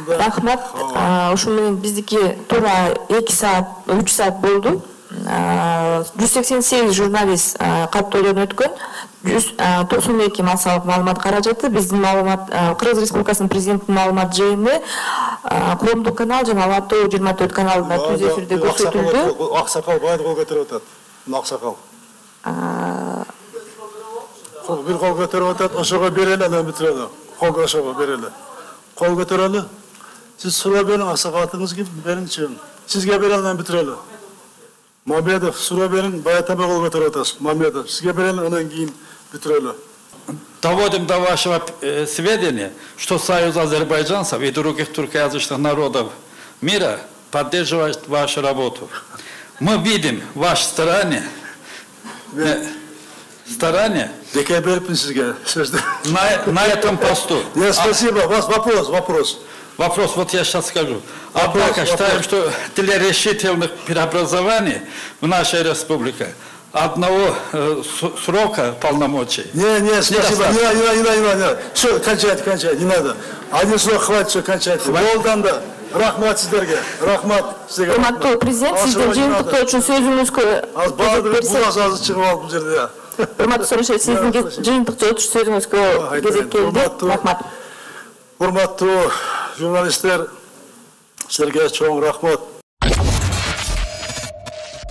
Рахмат. Ошол менен биздики туура 2 саат, 3 саат болду. 188 журналист каттоодон өткөн. 192 массалык маалымат каражаты, биздин маалымат Кыргыз Республикасынын президентинин маалымат жыйыны коомдук канал жана Ала Тоо 24 каналында түз эфирде көрсөтүлдү. Аксакал баары кол көтөрүп атат. Аксакал. Бир кол көтөрүп атат, ошого берели, анан бүтүрөлү. Кол ошого берели. Кол көтөрөлү. Сиз суроо бериң, аксакалыңыз ким? Бериңчи. Сизге берели, анан бүтүрөлү. Мамедов, суроо бериң, баятама кол көтөрүп атасыз. Мамедов, сизге берели, анан кийин бүтүрөлү. Доводим до вашего сведения, что Союз азербайджанцев и других туркоязычных народов мира поддерживает вашу работу. Мы видим ваше старание на этом посту. Спасибо. У вас вопрос. Вопрос, вот я сейчас скажу. Однако считаем, что для решительных преобразований в нашей республике одного срока полномочий. Не, спасибо. Не. Все, кончайте, не надо. Один срок хватит, все, кончайте. Болдан да. Рахмат сиздерге. Рахмат сизге. Урматтуу президент, сиздин жыйынтыктоо үчүн сөзүңүзгө Баадыр аз чыгып алып бул жерде. Урматтуу Сорошев, сиздин жыйынтыктоо үчүн сөзүңүзгө кезек келди. Рахмат. Урматтуу журналисттер, силерге чоң рахмат.